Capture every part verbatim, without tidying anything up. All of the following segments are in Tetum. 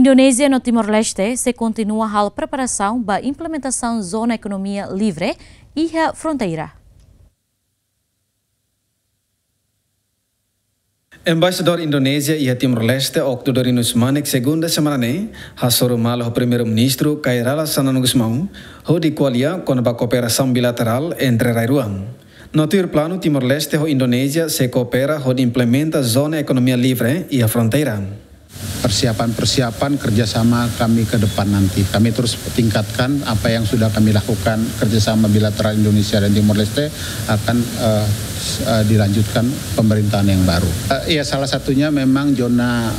Indonézia no Timor-Leste sei kontinua halo preparasaun ba implementasaun zona ekonomia livre iha fronteira. Embaixadór Indonézia iha Timor-Leste, Octo Dorinus Manik, segunda semana ne'e hasoru malu ho Primeiru-Ministru Kay Rala Xanana Gusmão hodi ko'alia kona-ba kooperasaun bilaterál entre rai rua. No tuir planu, Timor-Leste ho Indonézia sei koopera hodi implementa zona ekonomia livre iha fronteira. Persiapan-persiapan kerjasama kami ke depan nanti. Kami terus tingkatkan apa yang sudah kami lakukan, kerjasama bilateral Indonesia dan Timor-Leste akan, eh, s-, eh, dilanjutkan pemerintahan yang baru. Eh, ya, salah satunya memang zona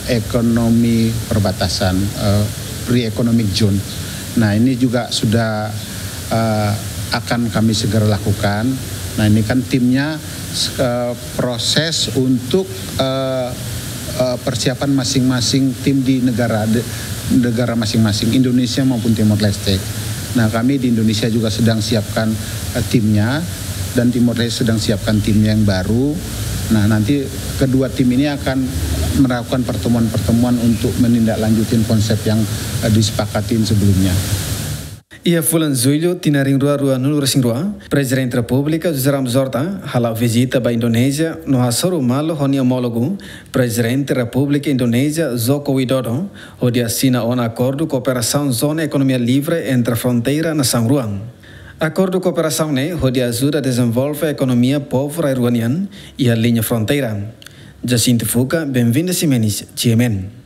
ekonomi perbatasan, eh, free economic zone. Nah, ini juga sudah, eh, akan kami segera lakukan. Nah, ini kan timnya, eh, proses untuk, eh, eh, persiapan masing-masing tim di negara, de-, negara masing-masing, Indonesia maupun Timor Leste. Nah, kami di Indonesia juga sedang siapkan, eh, timnya, dan Timor Leste sedang siapkan timnya yang baru. Nah, nanti kedua tim ini akan melakukan pertemuan-pertemuan untuk menindaklanjutin konsep yang, eh, disepakatin sebelumnya. Iha fulan Jullu, tinan rihun rua ruanulu-resin-rua, Prezidente Repúblika José Ramos Horta hala'o vizita ba Indonézia no hasoru malu ho nia omólogu, Prezidente Repúblika Indonézia Joko Widodo, hodi asina ona akordu kooperasaun zona ekonomia livre entre fronteira nasaun rua. Akordu kooperasaun ne'e hodi ajuda dezenvolve ekonomia povu rai rua nian iha liña fronteira. Jacinto Fuca, Benvinda Ximenes, G M N.